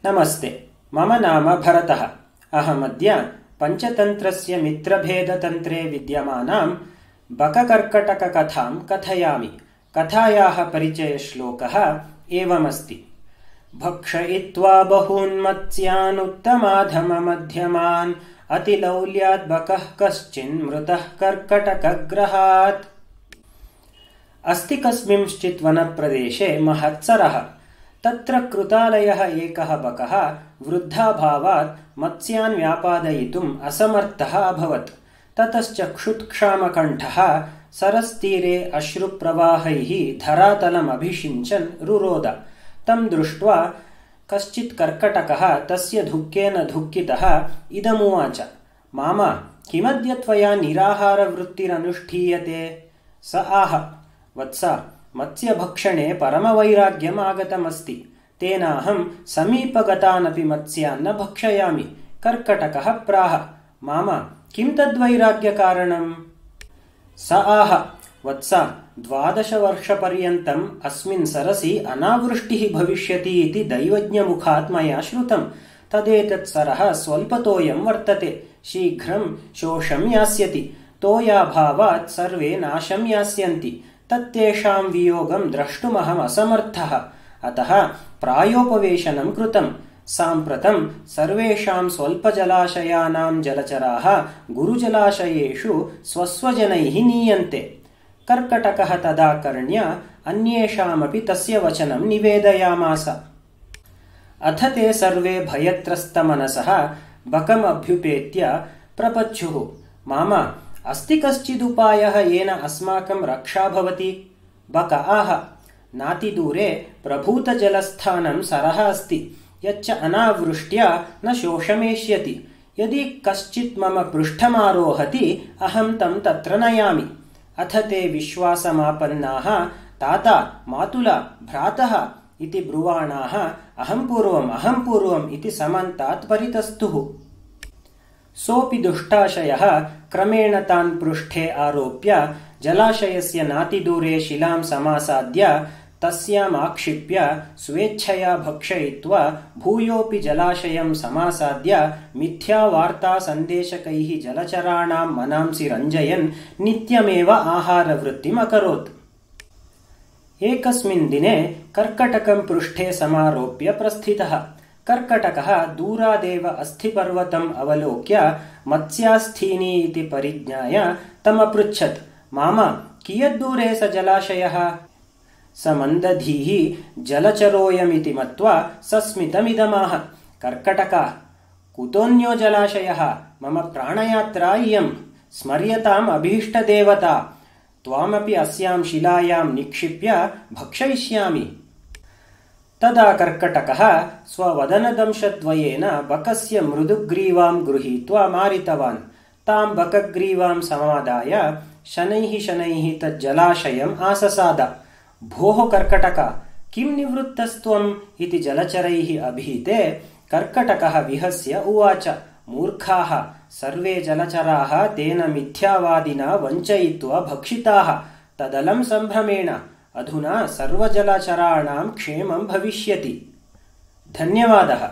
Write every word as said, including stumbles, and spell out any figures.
नमस्ते, मम नाम भरतः। अहमद्य पञ्चतन्त्रस्य मित्रभेदतन्त्रे विद्यमानां बककर्कटककथां कथयामि। कथायाः परिचयश्लोकः एवमस्ति। भक्षयित्वा बहून् मत्स्यान् उत्तमाधममध्यमान् अतिलौल्यात् बकः कश्चिन् मृतः कर्कटकग्रहात्। अस्ति कस्मिंश्चित् वनप्रदेशे महत्सरः। तत्र कृतालयः एकः बकः वृद्धाभावात् मत्स्यान् व्यापादयितुम् असमर्थः अभवत्। ततश्च क्षुत्क्षामकण्ठः सरस्तीरे अश्रुप्रवाहैः धरातलमभिषिञ्चन् रुरोद। तं दृष्ट्वा कश्चित् कर्कटकः तस्य दुःखेन दुःखितः इदमुवाच, मामा, किमद्य त्वया निराहारवृत्तिरनुष्ठीयते? स आह, वत्स, मत्स्यभक्षणे परमवैराग्यम् आगतमस्ति। तेनाहं समीपगतानपि मत्स्यान् न भक्षयामि। कर्कटकः प्राह, मामा, किं तद्वैराग्यकारणम्? स आह, वत्स, द्वादशवर्षपर्यन्तम् अस्मिन् सरसि अनावृष्टिः भविष्यति इति दैवज्ञमुखात् मया श्रुतम्। तदेतत्सरः स्वल्पतोयं वर्तते, शीघ्रं शोषं यास्यति। तोयाभावात् सर्वे नाशं यास्यन्ति। तत्तेषां वियोगं द्रष्टुमहम् असमर्थः। अतः प्रायोपवेशनं कृतं। साम्प्रतं सर्वेषां स्वल्पजलाशयानां जलचराः गुरुजलाशयेषु स्वस्वजनैः नीयन्ते। कर्कटकः तदा कर्ण्य अन्येषामपि तस्य वचनं निवेदयामास। अथ ते सर्वे भयत्रस्तमनसः बकमभ्युपेत्य प्रपच्छुः, मामा, अस्ति कश्चिदुपायः येन अस्माकं रक्षा भवति? बक आह, नातिदूरे प्रभूतजलस्थानं सरः अस्ति, यच्च अनावृष्ट्या न शोषमेष्यति। यदि कश्चित् मम पृष्ठमारोहति अहं तं तत्र नयामि। अथ ते विश्वासमापन्नाः ताता, मातुला, भ्रातः इति ब्रुवाणाः अहं पूर्वम् अहं पूर्वम् इति समन्तात् परितस्तुः। सोऽपि दुष्टाशयः क्रमेण तान् पृष्ठे आरोप्य जलाशयस्य नातिदूरे शिलां समासाद्य तस्याम् आक्षिप्य स्वेच्छया भक्षयित्वा भूयोऽपि जलाशयं समासाद्य मिथ्यावार्तासन्देशकैः जलचराणां मनांसि रञ्जयन् नित्यमेव आहारवृत्तिम् अकरोत्। एकस्मिन् दिने कर्कटकं पृष्ठे समारोप्य प्रस्थितः। कर्कटकः दूरादेव अस्थिपर्वतम् अवलोक्य मत्स्यास्थीनि इति परिज्ञाय तमपृच्छत्, मामा, कियद्दूरे स जलाशयः? स मन्दधीः जलचरोऽयमिति मत्वा सस्मितमिदमाह, कर्कटक, कुतोऽन्यो जलाशयः? मम प्राणयात्रा इयं, स्मर्यताम् अभीष्टदेवता। त्वामपि अस्यां शिलायां निक्षिप्य भक्षयिष्यामि। तदा कर्कटकः स्ववदनदंशद्वयेन बकस्य मृदुग्रीवां गृहीत्वा मारितवान्। तां बकग्रीवां समादाय शनैः शनैः तज्जलाशयम् आससाद। भोः कर्कटक, किं निवृत्तस्त्वम् इति जलचरैः अभीते कर्कटकः विहस्य उवाच, मूर्खाः, सर्वे जलचराः तेन मिथ्यावादिना वञ्चयित्वा भक्षिताः। तदलं सम्भ्रमेण अधुना सर्वजलचराणां क्षेमं भविष्यति। धन्यवादः।